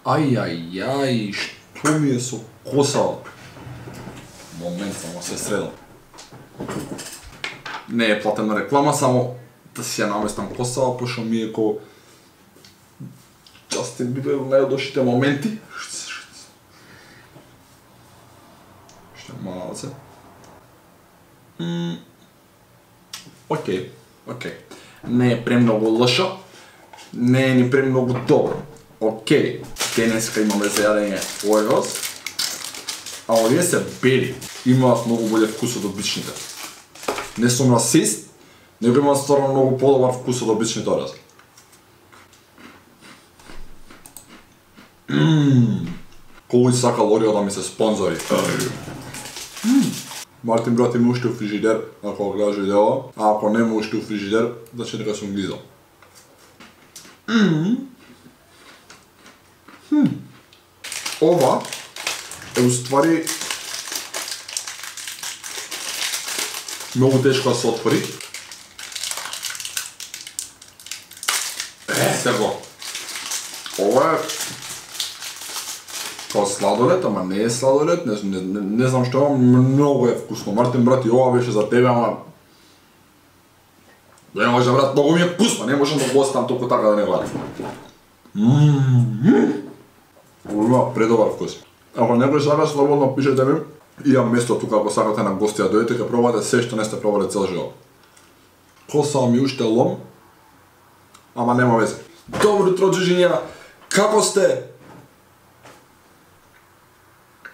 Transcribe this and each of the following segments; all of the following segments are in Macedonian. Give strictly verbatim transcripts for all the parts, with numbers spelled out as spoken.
Ај, ај, ај, што ми е со косава? Момент, само се средам. Не е платена реклама, само да си ја наместам косава, пошто ми е ко Джастин Бибер во најлошите моменти. Што мало се. Океј, океј. Не е премногу лошо, не е ни премногу добро. Океј, денеска имаме за јадење Oreos, а овие се бели. Имаат многу боле вкус од обичните. Не сум расист, него имаат стварно многу подобар вкус од обичните Oreos. Ммм, кој сакал Орео да ми се спонзори. Мартин брат има уште у фрижидер, ако го гледаш видео, а ако нема уште у фрижидер, значи дека сум глизал. Ова е уствари многу тешко да се отвори. Е, сега. Ова е као сладолед, ама не е сладолед, не, не, не, не знам што е, многу е вкусно. Мартин брат, и ова беше за тебе, ама не може брат, многу ми е вкусно, не можам да го оставам толку така да не го јадам. Ммм. Има предобар вкус. Ако некој сака, слободно пишете ми. Имам место тука, ако сакате на гости да дојдете, ќе пробате се што не сте пробале цел живот. Косава ми уште лом, ама нема везе. Добро утро, џуџиња, како сте?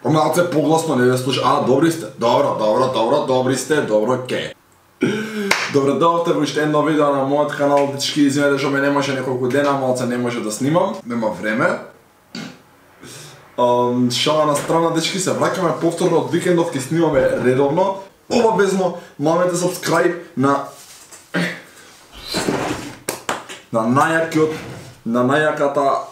Малце погласно не ве слуша. А, добри сте. Добро, добро, добро, добри сте, добро, ке. Добро дојдовте во уште едно видео на мојот канал, дечки, извинете што ме не може неколку дена, малце не може да снимам, нема време. Um, шала на страна, дечки, се враќаме повторно од викендов, ќе снимаме редовно. Обавезно, мамете subscribe на на најакиот, на најаката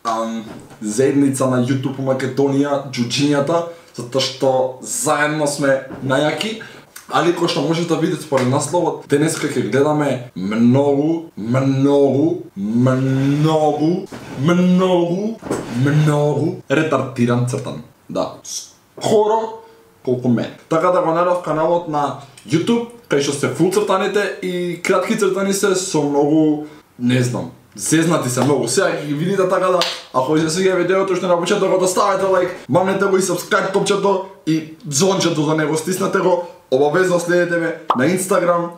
um, заедница на YouTube у Македонија, џуџињата, затоа што заедно сме најаки. Али кој што можете да видите според насловот, денеска ќе гледаме многу, многу, многу, многу, многу ретардиран цртан. Да, скоро колку мен. Така да го најдов каналот на YouTube, кај што се фул цртаните и кратки цртани се со многу, не знам, зезнати се многу. Сега ќе ги видите, така да, ако ви се свиѓа видеото, што на почетокот да ставите лайк, мамнете го и subscribe топчето и звончето за него, стиснете го. Обавезно следете ме на Инстаграм.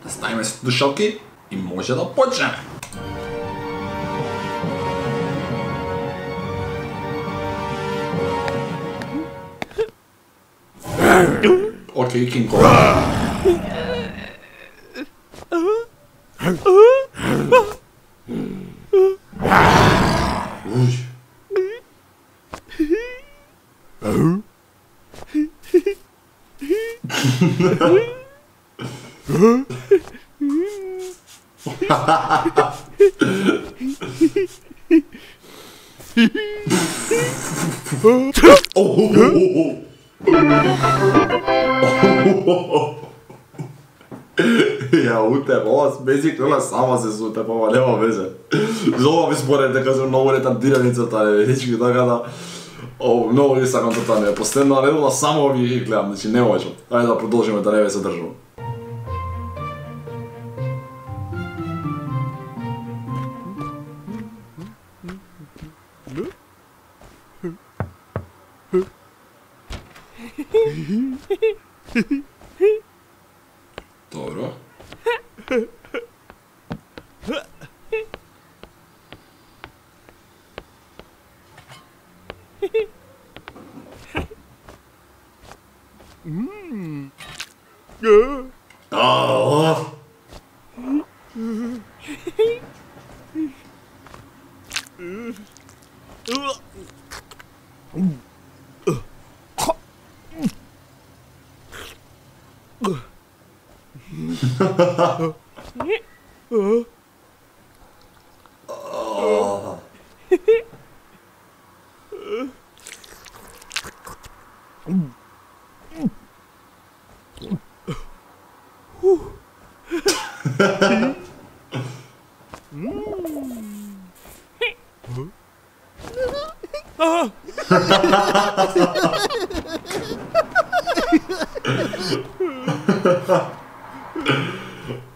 Да ставиме слушалки и може да почнеме. Океј, Кинг Конг. Ја утеп, ова смезик, ова сама се сутеп, ова нема везе. За ова ви според дека се многу ретардирани цртани, дечки, така да... О, многу ги сакам цртани, последна редовна само ови ги гледам, значи не можам. Ајде да продолжиме да не ве се држам. Добро. Mmm. Oh.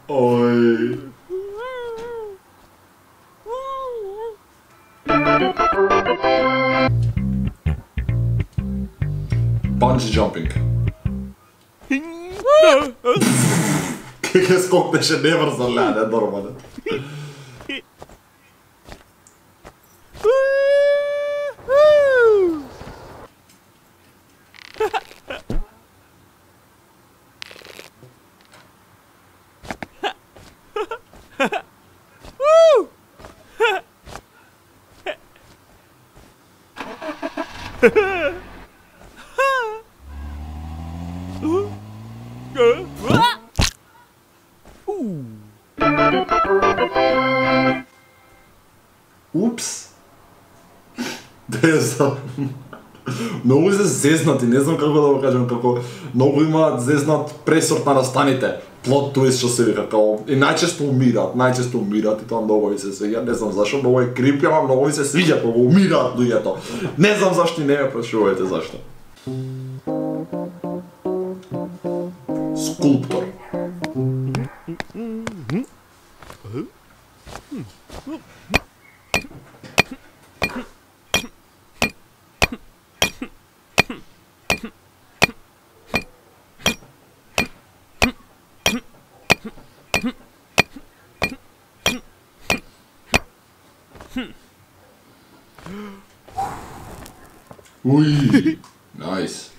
Ой. Bungee jumping. Кај скокнеше не врза леде, нормален. Упс. Не знам. Многу се зезнати, не знам како да го кажам, како многу имаат зезнат пресорт на настаните. Плот твист што се вика, као и најчесто умираат, најчесто умираат и тоа многу ми се свиѓа, не знам зашто, многу е крипи, ама многу ми се свиѓа кога умираат луѓето. Не знам зашто и не ме прашувајте зашто. Скулптор. Уй, nice.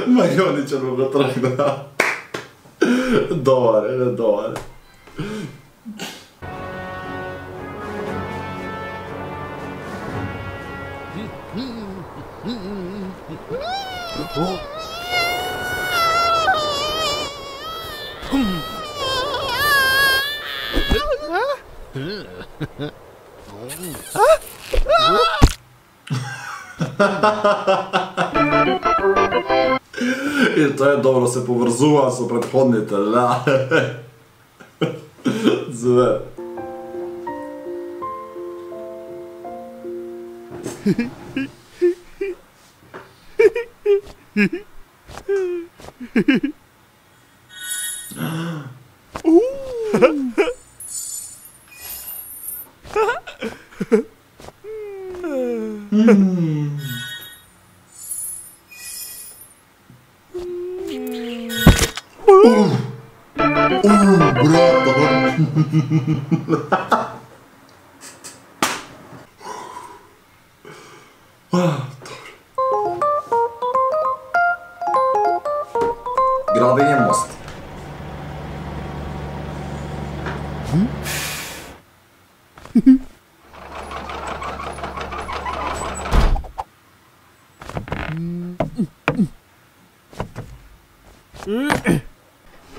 Мајоничен му го тргна. Добар е, добар е. И тоа е добро, се поврзува со претходните, да. Зве. Градење мост.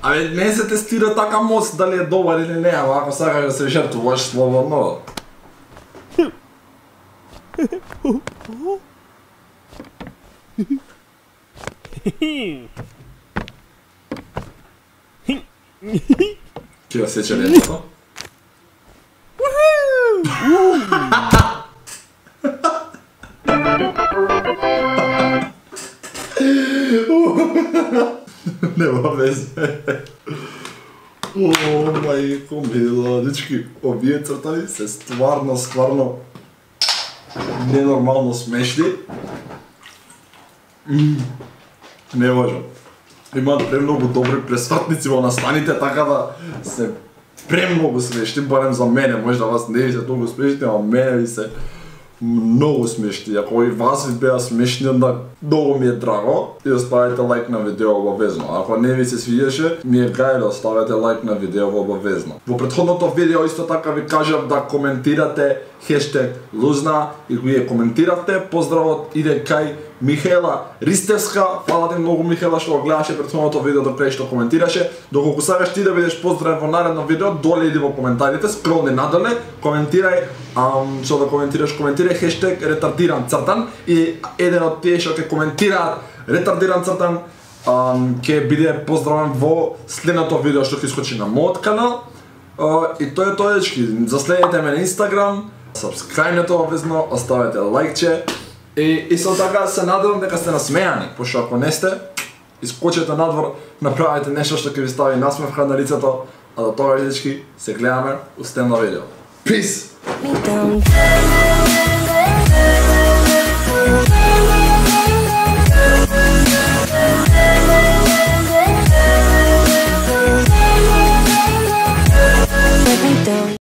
Абе, не се тестира така мост дали е добар или не, ама ако сакаш да се жртвуваш слободно. Ќе ја сече летото? Нема везе. О, мајко мила, дечки, овие цртави се стварно, стварно ненормално смешни. Не можам. Имаат премногу добри пресватници во настаните, така да се премногу смешни, барем за мене, може да вас не ви се толку смешни, ама мене ви се многу смешни. Ако и вас ви беа смешни, onda многу ми е драго и оставете лайк на видео обавезно. Ако не ви се свиеше, ми е гајле, оставете лайк на видео обавезно. Во претходното видео исто така ви кажав да коментирате хештег Лузна и го ја коментиравте. Поздравот иде кај Михаела Ристевска. Фала ти многу, Михаела, што го гледаше претходното видео до крај, што коментираше. Доколку сакаш ти да бидеш поздравен во наредно видео, доле иди во коментарите, скролни надоле, коментирај, ам, што да коментираш, коментирај хештег ретардиран цртан и еден од тие што ќе коментираат ретардиран цртан ам, ќе биде поздравен во следното видео што ќе искочи на мојот канал. Uh, и тоа е тоа, дечки. Заследете ме на Инстаграм, сабскрајбнете обавезно, оставете лайкче и исто така се надевам дека сте насмејани, пошто ако не сте, искочете надвор, направете нешто што ќе ви стави насмевка на лицето, а до тоа, дечки, се гледаме у следно видео. Peace!